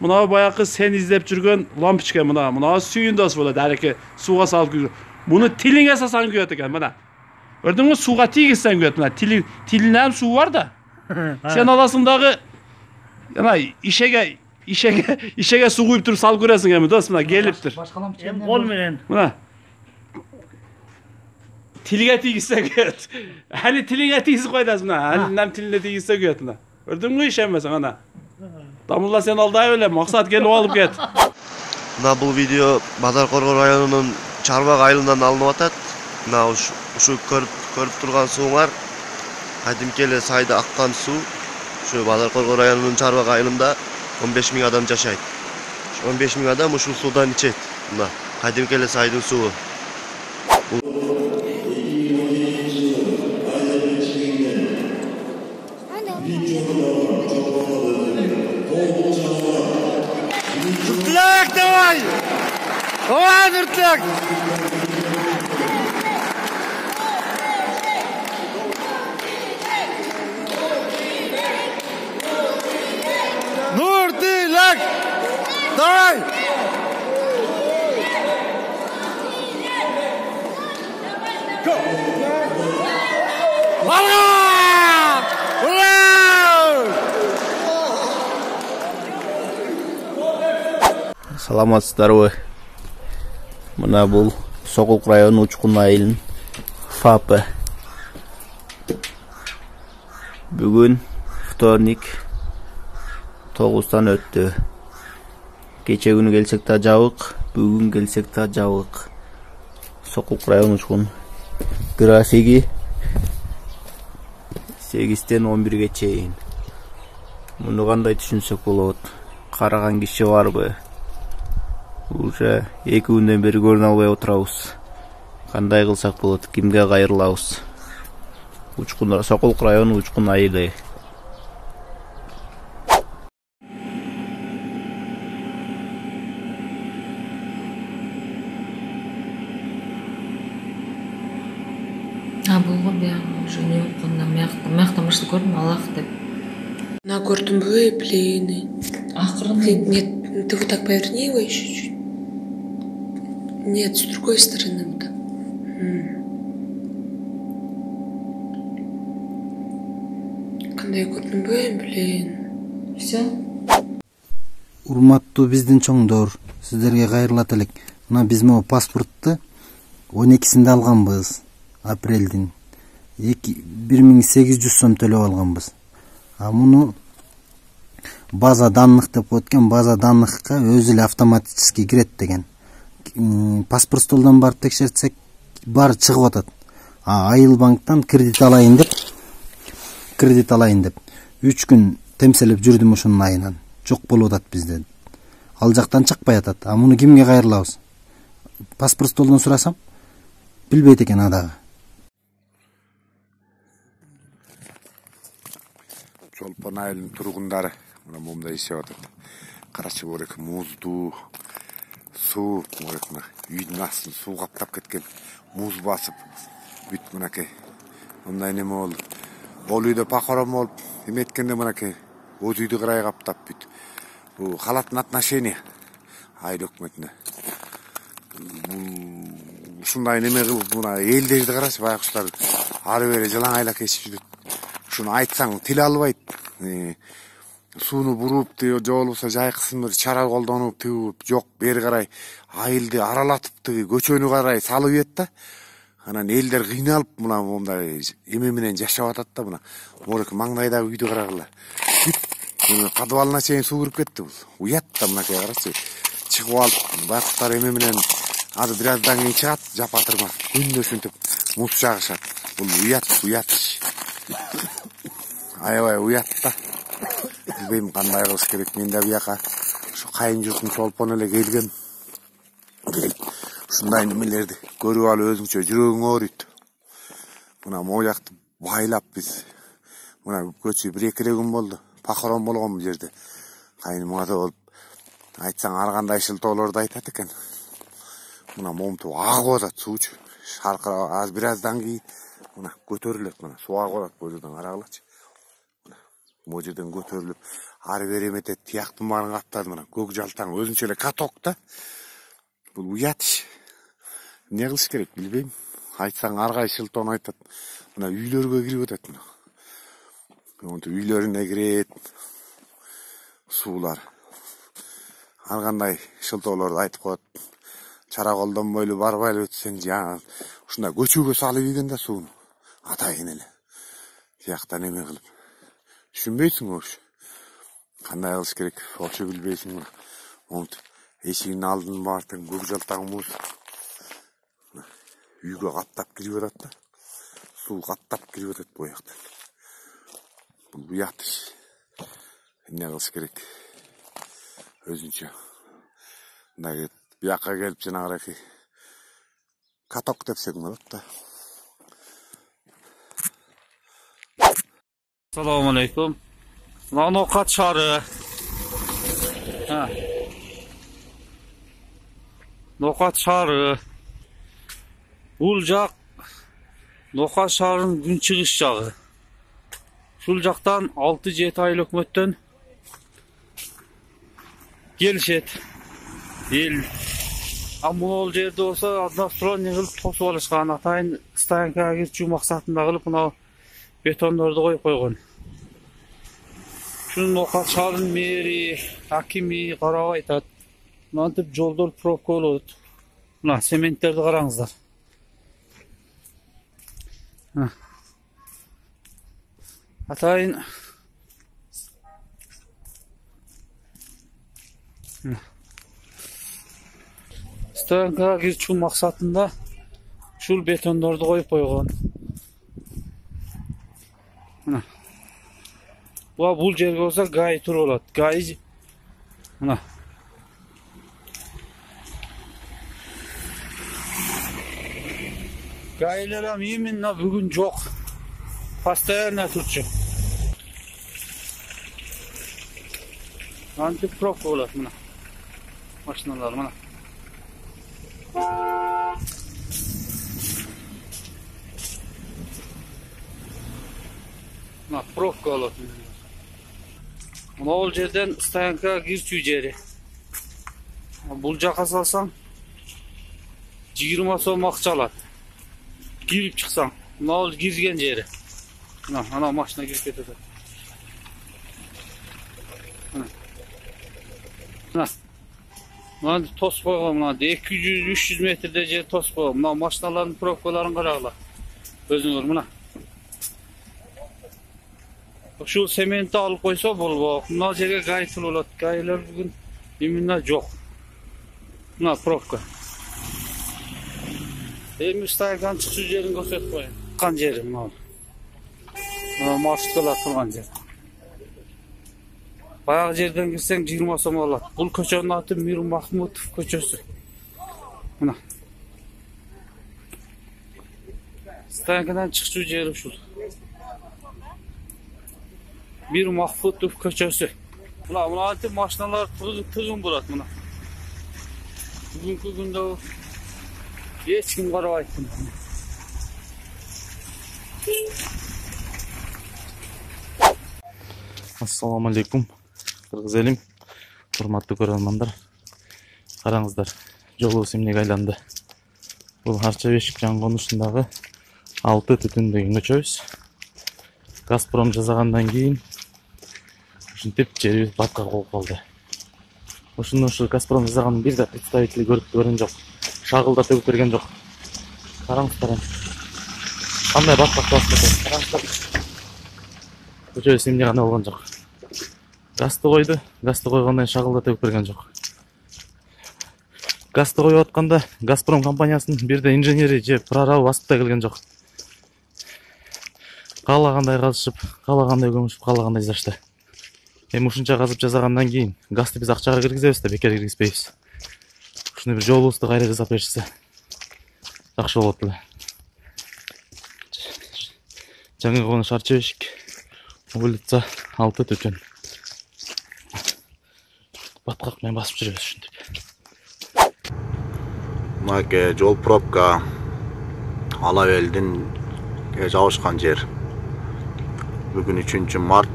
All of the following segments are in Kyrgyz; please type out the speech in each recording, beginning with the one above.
мына баягы сен издеп жүргөн лампочка мына сүйүндөс болот, ареке сууга салып күйгүзүп. Муну тилиңе сасаң күйөт экен, мына. Көрдүңбү, сууга тийгизсең күйөт, мына тилинде суу бар да. Сен аласың дагы жана ишеге суу куюп туруп салып көрөсүң эми, дос, мына келиптир. Кол менен. Мына. Тилге тийгизсең күйөт. Али тилиңе тийгизип койдасың, мына. Алинин тилине тийгизсе күйөт, мына. Көрдүңбү, ишенбесең ана. Дамулла, сен алдай беле, максат келип алып кет. Мына бул видео Базар Коргоо районунун Чарбак айылынан алынып атат. Мына ушу көрүп турган сууңар кадимки эле сайда аккан суу. Ушу Базар Коргоо районунун Чарбак айылында 15 000 адам жашайт. 15 000 адам ушул суудан ичет. Мына кадимки эле сайдын суу. Нуртак, давай! Давай, Нуртак! Нуртак! Давай! Саламатсыздарбы? Мына бул Сокулук району Учкун айылынын ФАПы. Бүгүн вторник 9-тан өттү. Кече күнү келсек да жабык, бүгүн келсек да жабык. Сокулук району Учкун графиги 8-тен 11-ге чейин. Муну кандай түшүнсөк болот? Караган киши барбы? Уже 2 күндөн бери көрүнө албай отурабыз. Кандай кылсак болот? Кимге кайрылабыз? Сокулук району Учкун айылы. Булго бияга уже не окунда мякта мышты көрдүм, Аллах деп. На көрдүмбү, блин. Акырын. Нет, ты вот так поверни его еще чуть. Нет, с другой стороны вот так. Кандай көрдүмбү, блин. Все. Урматтуу биздин чоңдор, сиздерге кайрылат элек. Мына биз могу паспортту 12-синде алганбыз. Апрелдин 1800 сом төлөп алганбыз. А муну база данных деп коет экен, база данныхка өзү эле автоматически кирет деген. Паспорт столдон барып текшертсек, баары чыгып атат. Айыл банктан кредит алайын деп 3 күн темселеп жүрдүм ошонун айынан. Жок болуп атат бизде. Ал жактан чыкпай атат. А муну кимге кайрылабыз? Паспорт столдон сурасам, билбейт экен адагы. Чолпон айылынын тургундары мына момундай ишеп атат. Карачы борек муздуу суу, мына үйдүн астын суу каптап кеткен, муз басып, бүт мынакей. Мындай неме болду. Ол үйдө пахорон болуп, эметкенде мынакей өз үйдү кырай каптап бүт. Бул халаттын отношения айыл өкмөтүнө. Ушундай неме кылып, мына элдерди карачы, байкуштар ары бери жылаң айлак кечип жүрөт. Ушуну айтсаң тил албайт. Сууну буруп, же болбосо жайкысын бир чара колдонуп, тигип, жок бери карай айылды аралатып, тиги көчөнү карай салып ийет да. Анан элдер кыйналып, мына мондай эме менен жашап атат да, мына. Морек маңдайдагы үйдү карагыла. Бүт подвалына чейин суу кирип кетти бул. Уят да мынакей карачы. Чыгып алып, байкуштар эме менен азыр бир аздан кийин чыгат, жапатырма. Күндө ушинтип муз чагышат. Бул уят. Аябай уят да. Билбейм кандай кылыш керек. Мен да бияка ушу кайын журтун чолпон эле келгем. Ушундай немелерди көрүп алып өзүңчө жүрөгүң ооруйт. Мына могу жакты байлап биз. Мына көчүп 1-2 күн болду. Пахорон болгон бул жерде. Кайын мата болуп айтсаң ар кандай шылтоолорду айтат экен. Мына момту агып атат суучу. Шаркырап бир аздан кийин мына көтөрүлөт, мына суу агып атат бул жерден, карагылачы. Могу жерден көтөрүлүп ары бери эметет, тияктын баарын каптады мына. Көк жалтаң өзүнчө эле каток да. Бул уят иш. Эмне кылыш керек билбейм. Айтсаң ар кайсы шылтоон айтат. Мына үйлөргө кирип атат мына. Монтип үйлөрүнө кирет. Суулар. Ар кандай шылтоолорду айтып коет. Чара колдонбойлу барбайлы өтсөң жана ушундай көчөгө салып ийген да сууну. Атайын эле. Тияктан эме кылып. Түшүнбөйсүң ош. Кандай кылыш керек? Ошо билбейсиң. Монтип эшигинин алдын баартын көк жалтаң муз. Үйгө каттап кирип атат да. Суу каттап кирип атат бояктан. Бул уят иш. Эмне кылыш керек? Өзүнчө. Мындай бияка келип жанагы каток депсең болот да. Assalomu alaykum. Noqat shari. Noqat shari. Бул жак Ноқат шаарынын күн чыгыш жагы. Шул жактан 6-7 айыл өкмөттөн келишет. Эл аммол жерде болсо односторонний кылып тосуп алышкан. Атайын стоянкага кирчүү максатында кылып мына бетондорду коюп койгон. Шуну Ноқат шаарынын мэри, акими карап айтат. Мынтип жолдор пробка болот. Мына цементтерди караңыздар. Атайын стоянкага кирчүү максатында ушул бетондорду коюп койгон. Мына. Бул жерге болсо гай туруп алат. Гай мына. Гайлар именно бүгүн жок. Постоянно турчу. Антипробка болот мына. Машиналар мына. Мына пробка болот. Бул жерден стоянкага кирчүү жери. Бул жака салсаң 20 сом акча алат. Кирип чыксаң, мына кирген жери. Мына, ана машина кирип кетет. Мына. Мына тосуп койгон, мына 200-300 метрде жер тосуп койгон. Мына машиналардын пробкаларын карагыла. Өзүңөр мына. Ушул цементти алып койсо болбок. Мына жерге гай болот. Гайлар бүгүн именно жок. Мына пробка. Эми стоянканын чыкчу жерин көрсөтүп коеюн. Кан жери мына. Маршруткалар турган жер. Баягы жерден кирсең 20 сом алат. Бул көчөнүн аты Мир Махмутов көчөсү. Мына. Стоянкадан чыкчу жери ушул. Мир Махмутов көчөсү. Мына антип машиналар тыгын болот мына. Бүгүнкү күндө эч ким карабайт. Ассаламу алейкум. Кыргыз элим, урматтуу көрөрмандар. Караңыздар, жолубуз эмнеге айланды. Бул Арча Бешик жан конушундагы 6 түтүн деген көчөбүз. Газпром жасагандан кийин ушинтип жерибиз баткак болуп калды. Ушуну Газпром жасаганын бир да представители көргөн жок. Шагылда төгүп берген жок. Караңыздар. Кандай баткак басып кетет. Караңыздар. Көчөбүз эмне гана болгон жок. Газды койду. Газды койгондон шагылда төгүп берген жок. Газды коюп атканда Газпром компаниясынын бир да инженери же прорабы басып да келген жок. Каалагандай казышып, каалагандай көмүшүп, каалагандай жашты. Эми ушунча казып жасагандан кийин газды биз акчага киргизебиз да бекер киргизбейбиз. Ушуну бир жолубузду кайра жасап беришсе жакшы болот эле. Жаңы конуш Арча Бешик, улица 6 түтүн. Баткак менен басып жүрөбүз ушинтип. Мына жол пробка Ала Белдин жабышкан жер. Бүгүн 3 март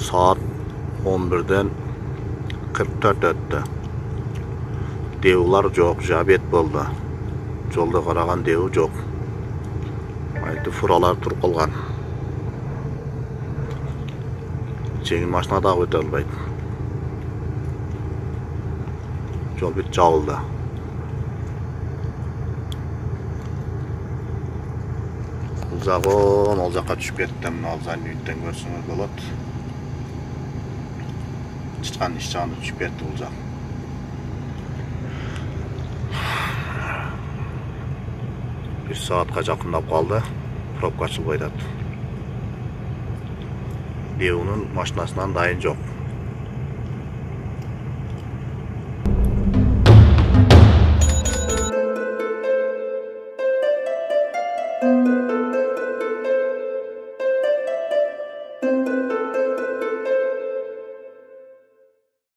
Saat 11'den 44 öttü. Devlar yok, jabet boldu. Jolda qaragan dev yok. Ayты furalar turup kalgan. Жеңил машина да өтө албайт. Жол бүт жабылды. Узагон ол жакка түшүп кеттим. Ал занюттен көрсөңүз болот. Чыккан иш жагына түшүп кетти бул жак. Bir saatка жакындап калды. Пробка ачылбай атат. Devunun машинасынан дайын жок.